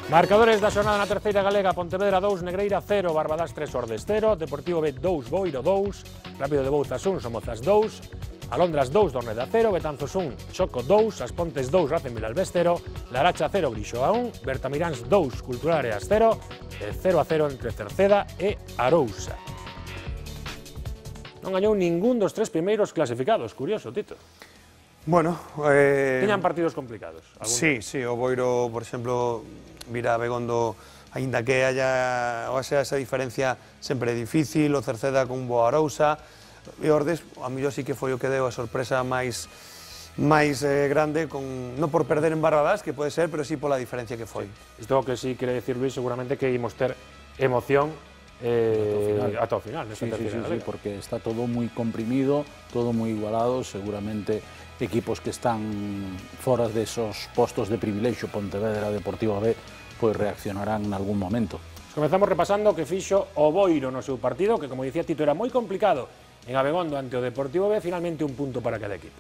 Marcadores da xornada na terceira galega: Pontevedra 2, Negreira 0, Barbadas 3, Ordes 0, Deportivo B 2, Boiro 2, Rápido de Bouzas 1, Somozas 2, Alondras 2, Dorneda 0, Betanzos 1, Choco 2, As Pontes 2, Racing Vilalbés 0, Laracha 0, Grixoa 1, Bertamiráns 2, Cultural Areas 0, 0-0 entre Cerceda e Arousa. Non gañou ningún dos tres primeiros clasificados, curioso, Tito. Bueno, Tiñan partidos complicados. Sí, o Boiro, por exemplo, vira a Begondo, aínda que haya esa diferencia sempre é difícil, o Cerceda con boa Arousa, e Ordes, a mellor sí que foi o que deu a sorpresa máis grande, non por perder en Barbadas, que pode ser, pero sí pola diferencia que foi. Isto que sí quere decir, Luis, seguramente que imos ter emoción ata o final. Sí, porque está todo moi comprimido, todo moi igualado, seguramente equipos que están fora desos postos de privilexio, Pontevedra, Deportivo B, pois reaccionarán en algún momento. Comezamos repasando o que fixo o Boiro no seu partido, que, como dicía Tito, era moi complicado en Abegondo ante o Deportivo B, finalmente un punto para cada equipo.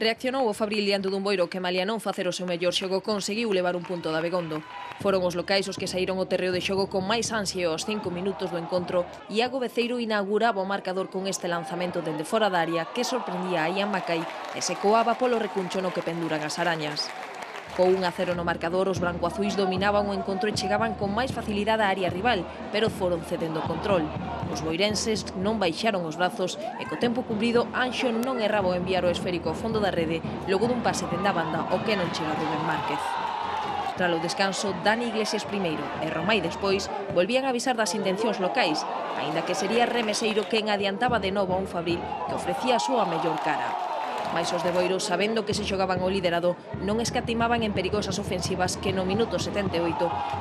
Reaccionou o Fabril diante dun Boiro que, malia non facer o seu mellor xogo, conseguiu levar un punto da Abegondo. Foron os locais os que saíron ao terreo de xogo con máis ansia aos 5 minutos do encontro. Iago Beceiro inauguraba o marcador con este lanzamento dende fora da área que sorprendía a Ian Macai e se coaba polo recuncho no que penduran as arañas. Co 1-0 no marcador, os brancoazuis dominaban o encontro e chegaban con máis facilidade á área rival, pero foron cedendo o control. Os boirenses non baixaron os brazos e co tempo cumprido Anxo non erraba o enviar o esférico ao fondo da rede logo dun pase dende a banda o que non chega Rubén Márquez. Tras o descanso, Dani Iglesias primeiro e Romai despois volvían a avisar das intencións locais, aínda que sería Remeseiro quen adiantaba de novo a un Fabril que ofrecía a súa mellor cara. Mais os de Boiro, sabendo que se xogaban o liderado, non escatimaban en perigosas ofensivas que no minuto 78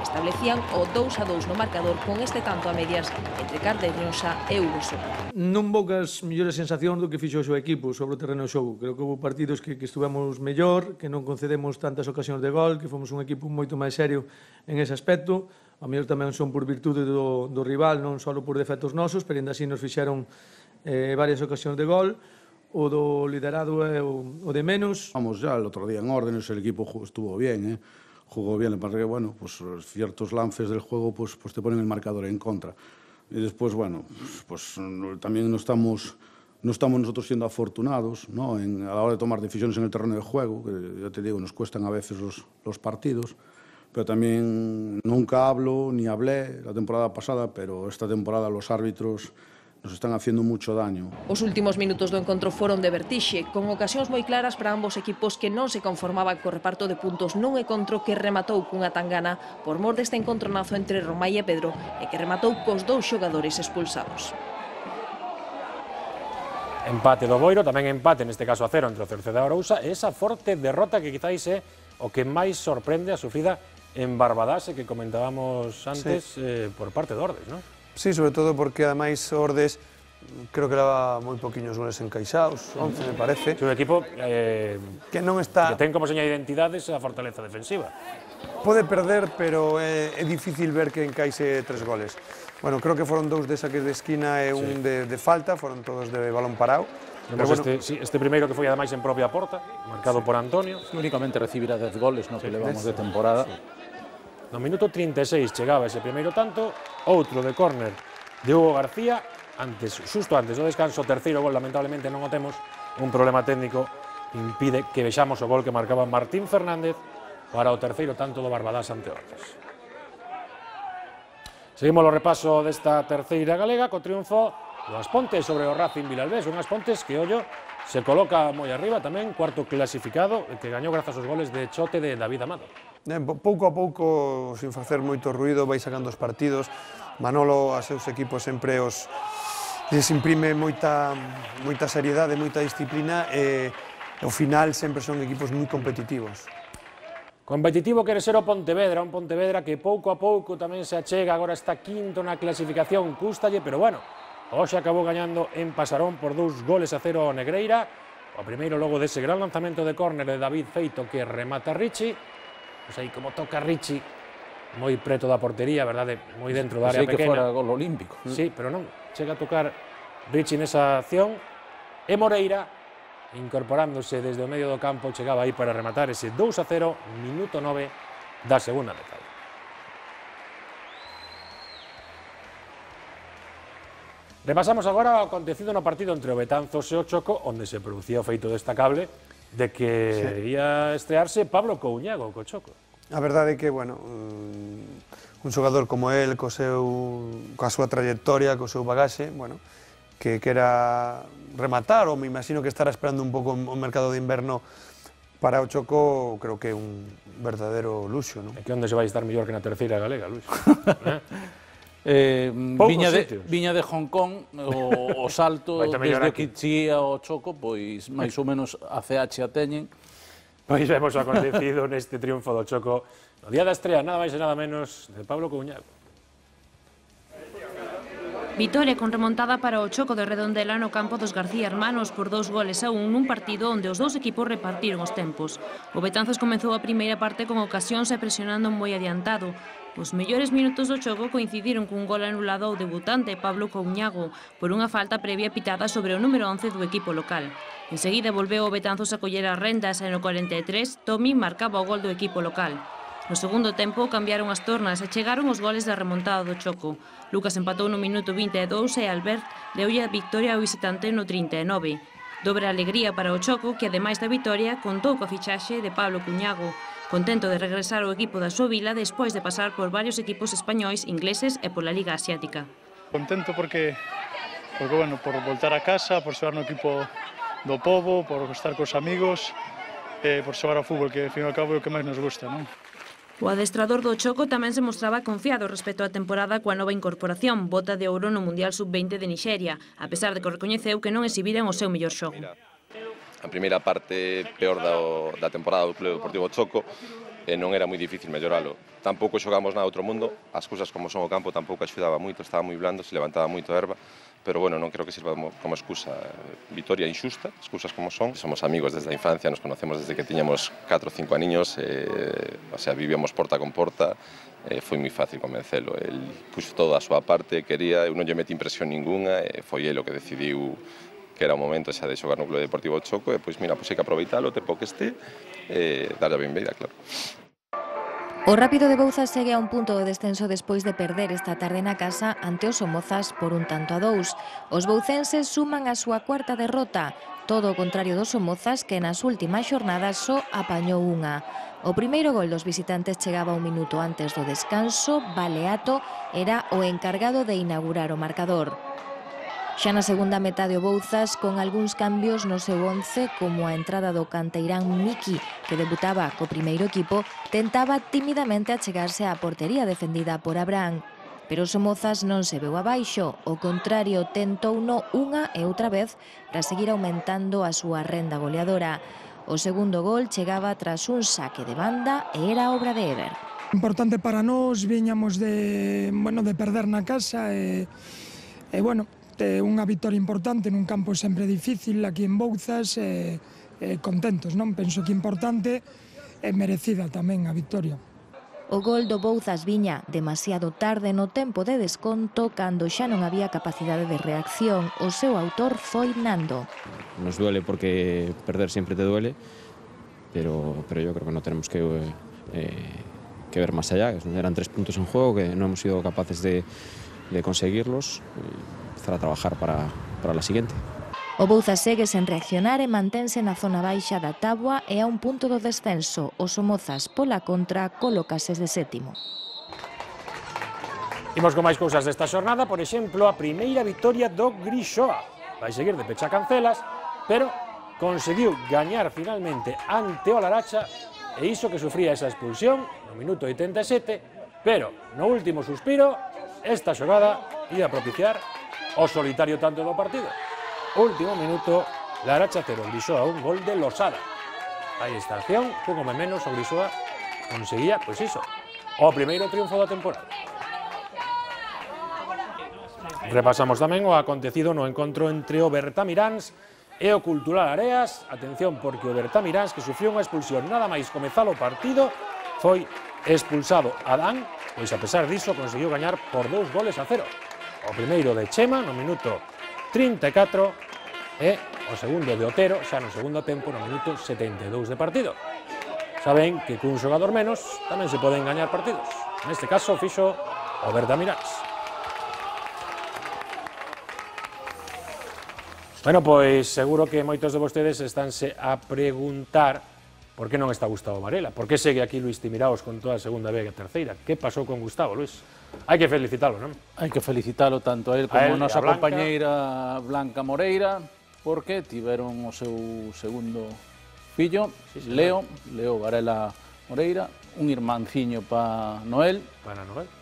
establecían o 2-2 no marcador con este tanto a medias entre Cardeñosa e Hugo Soto. Non poucas mellores sensacións do que fixo o seu equipo sobre o terreno de xogo. Creo que houve partidos que estuvemos mellor, que non concedemos tantas ocasións de gol, que fomos un equipo moito máis serio en ese aspecto. A mellor tamén son por virtude do rival, non só por defectos nosos, pero ainda así nos fixeron varias ocasións de gol. O do liderado é o de menos. Vamos ya el otro día en órdenes, el equipo estuvo bien, jugó bien, le parece que bueno, pues ciertos lances del juego pues te ponen el marcador en contra. Y después, bueno, pues también no estamos nosotros siendo afortunados, ¿no? A la hora de tomar decisiones en el terreno de juego, que ya te digo, nos cuestan a veces los partidos, pero también nunca hablo ni hablé la temporada pasada, pero esta temporada los árbitros nos están haciendo mucho daño. Os últimos minutos do encontro foron de vertixe, con ocasións moi claras para ambos equipos que non se conformaban co reparto de puntos nun encontro que rematou cunha tangana por mor deste encontronazo entre Romai e Pedro e que rematou cos dous xogadores expulsados. Empate do Boiro, tamén empate neste caso a 0 entre o Cerceda e Arousa, e esa forte derrota que quizáis é o que máis sorprende a sufrida en Barbadas, que comentábamos antes por parte de Ordes, non? Sí, sobre todo porque ademais Ordes creo que leva moi poquinhos goles encaixados, 11 me parece. É un equipo que non está... que ten como seña de identidades a fortaleza defensiva. Pode perder, pero é difícil ver que encaixe 3 goles. Bueno, creo que foron 2 de saques de esquina e un de falta, foron todos de balón parado. Este primeiro que foi ademais en propia porta, marcado por Antonio. Únicamente recibirá 10 goles no que levamos de temporada. No minuto 36 chegaba ese primeiro tanto, outro de córner de Hugo García, xusto antes do descanso, terceiro gol, lamentablemente non o temos, un problema técnico impide que vexamos o gol que marcaba Martín Fernández para o terceiro tanto do Barbadas ante Ordes. Seguimos o repaso desta terceira galega co triunfo do As Pontes sobre o Racing Vilalbés, un As Pontes que, ollo, se coloca moi arriba tamén, cuarto clasificado, que gañou grazas aos goles de Chote de David Amado. Pouco a pouco, sin facer moito ruido, vai sacando os partidos. Manolo, a seus equipos sempre les imprime moita seriedade, moita disciplina e ao final sempre son equipos moi competitivos. Competitivo quere ser o Pontevedra, un Pontevedra que pouco a pouco tamén se achega, agora está quinto na clasificación, cústalle, pero bueno, hoxe acabou gañando en Pasarón por 2 goles a 0 ao Negreira, o primeiro logo dese gran lanzamento de córner de David Feito que remata Richie, pois aí como toca Richie, moi preto da portería, verdade, moi dentro da área pequena. Que fora gol olímpico. Sí, pero non, chega a tocar Richie nesa acción, e Moreira incorporándose desde o medio do campo, chegaba aí para rematar ese 2-0, minuto 9 da segunda metade. Repasamos agora o acontecido no partido entre o Betanzos e o Choco, onde se producía o feito destacable de que ia estrearse Pablo Couñago co Choco. A verdade é que, bueno, un xogador como el, coa súa trayectoria, co seu bagaxe, bueno, que quera rematar, ou me imagino que estará esperando un pouco o mercado de inverno para o Choco, creo que é un verdadeiro luxo, non? É que onde se vai estar mellor que na terceira galega, Luis? Viña de Hong Kong, o salto desde Kichí ao Choco, pois máis ou menos a CH a teñen. Pois vemos o acontecido neste triunfo do Choco no día da estrea, nada máis e nada menos, de Pablo Couñago. Vitoria con remontada para o Choco de Redondela no campo dos García Hermanos por 2-1 nun partido onde os dous equipos repartiron os tempos. O Betanzos comezou a primeira parte con ocasións e presionando moi adiantado. Os mellores minutos do Choco coincidiron cun gol anulado ao debutante Pablo Couñago por unha falta previa pitada sobre o número 11 do equipo local. Enseguida volveu o Betanzos a coller as rendas e no 43 Tomi marcaba o gol do equipo local. No segundo tempo cambiaron as tornas e chegaron os goles da remontada do Choco. Lucas empatou no minuto 22 e Albert deulle a victoria ao visitante no 39. Dobre alegría para o Choco, que ademais da victoria contou coa fichaxe de Pablo Couñago, contento de regresar ao equipo da súa vila despois de pasar por varios equipos españois, ingleses e pola Liga Asiática. Contento porque bueno, por voltar a casa, por xogar no equipo do pobo, por estar cos amigos, por xogar ao fútbol, que ao fin e ao cabo é o que máis nos gusta, non? O adestrador do Choco tamén se mostraba confiado respecto á temporada coa nova incorporación, bota de ouro no Mundial Sub-20 de Nixeria, a pesar de que recoñeceu que non exhibiran o seu mellor xogo. A primeira parte peor da temporada do Club Deportivo Choco non era moi difícil melloralo. Tampouco xogamos na outro mundo, as cousas como son o campo tampouco axudaba moito, estaba moi blando, se levantaba moito erva, pero bueno, non creo que sirva como excusa. Vitoria injusta, as cousas como son. Somos amigos desde a infancia, nos conocemos desde que tiñamos 4 ou 5 aniños, o sea, vivíamos porta con porta, foi moi fácil convencelo. El puxo toda a súa parte, quería, eu non lle meti impresión ninguna, foi el o que decidiu que era o momento xa de xogar no Club Deportivo Choco, e pois mira, pois hai que aproveitalo o tempo que este, darlle a benveida, claro. O Rápido de Bouzas segue a un punto de descenso despois de perder esta tarde na casa ante os Somozas por 1-2. Os boucenses suman a súa cuarta derrota, todo o contrario dos Somozas, que nas últimas xornadas só apañou unha. O primeiro gol dos visitantes chegaba un minuto antes do descanso. Baleato era o encargado de inaugurar o marcador. Xa na segunda metade o Bouzas, con algúns cambios no seu once, como a entrada do canteirán Miki, que debutaba co primeiro equipo, tentaba tímidamente achegarse á portería defendida por Abraham. Pero o Somozas non se veu abaixo, o contrario, tentouno unha e outra vez para seguir aumentando a súa renda goleadora. O segundo gol chegaba tras un saque de banda e era obra de Eber. Importante para nós, viñamos de perder na casa e unha vitória importante nun campo sempre difícil aquí en Bouzas, contentos, non? Penso que importante e merecida tamén a vitória. O gol do Bouzas viña demasiado tarde no tempo de desconto, cando xa non había capacidade de reacción. O seu autor foi Nando. Nos duele porque perder siempre te duele, pero yo creo que no tenemos que ver más allá. Eran 3 puntos en juego que no hemos sido capaces de conseguirlos. A trabajar para la siguiente. O Bouzas segue sen reaccionar e mantense na zona baixa da táboa e a un punto do descenso. O Somozas, pola contra, colócase de sétimo. Imos con máis cousas desta xornada, por exemplo, a primeira vitoria do Grixoa. Vai seguir de pecha cancelas, pero conseguiu gañar finalmente ante o Laracha, e iso que sufría esa expulsión no minuto 87, pero no último suspiro, esta xogada ia propiciar o solitario tanto do partido. Último minuto, Laracha 0, Grixoa 1, gol de Losada. Aí está a acción, un home menos, o Grixoa conseguía, pois iso, o primeiro triunfo da temporada. Repasamos tamén o acontecido no encontro entre o Bertamiráns e o Cultural Areas. Atención, porque o Bertamiráns, que sufriu unha expulsión nada máis comezar o partido, foi expulsado Adán, pois a pesar diso conseguiu gañar por 2-0. O primeiro de Chema no minuto 34 e o segundo de Otero, xa no segundo tempo, no minuto 72 de partido. Saben que cun xogador menos tamén se poden gañar partidos. Neste caso, fixo o Bertamiráns. Bueno, pois seguro que moitos de vostedes estánse a preguntar por que non está Gustavo Varela, por que segue aquí Luís Timiraos con toda a segunda B e a terceira. Que pasou con Gustavo, Luís? Hai que felicitalo, non? Hai que felicitalo tanto a él como a nosa compañeira Blanca Moreira, porque tiveron o seu segundo fillo, Leo Varela Moreira, un irmanciño para Noel,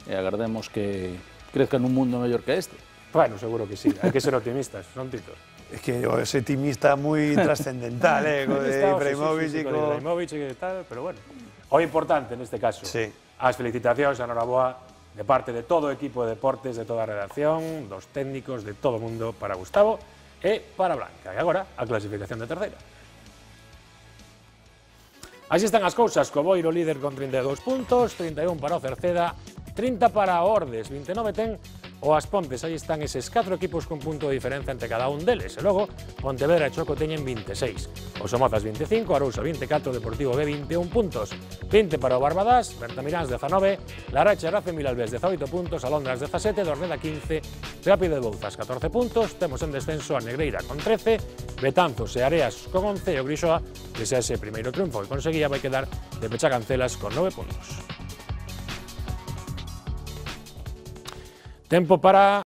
e agardemos que crezca nun mundo mellor que este. Bueno, seguro que sí, hai que ser optimistas, non, Tito? Es que ese timista muy trascendental, con Ibrahimovic y tal, pero bueno. O importante neste caso, as felicitacións, a noraboa, de parte de todo o equipo de deportes, de toda a redacción, dos técnicos, de todo o mundo, para Gustavo e para Blanca. E agora, a clasificación de terceira. Así están as cousas, co Boiro líder con 32 puntos, 31 para o Cerceda, 30 para Ordes, 29 ten o As Pontes. Aí están eses 4 equipos con punto de diferencia entre cada un deles. E logo, Pontevedra e Choco teñen 26. O Somozas 25, Arousa 24, Deportivo B 21 puntos. 20 para o Barbadás, Bertamiráns 19, Larache e Race Milalbés 18 puntos, Alondras 17, Dorneda 15, Rápido de Bouzas 14 puntos, temos en descenso a Negreira con 13, Betanzos e Areas con 11 e o Grixoa, que xa ese primeiro triunfo que conseguía, vai quedar de Pechacancelas con 9 puntos. Tempo para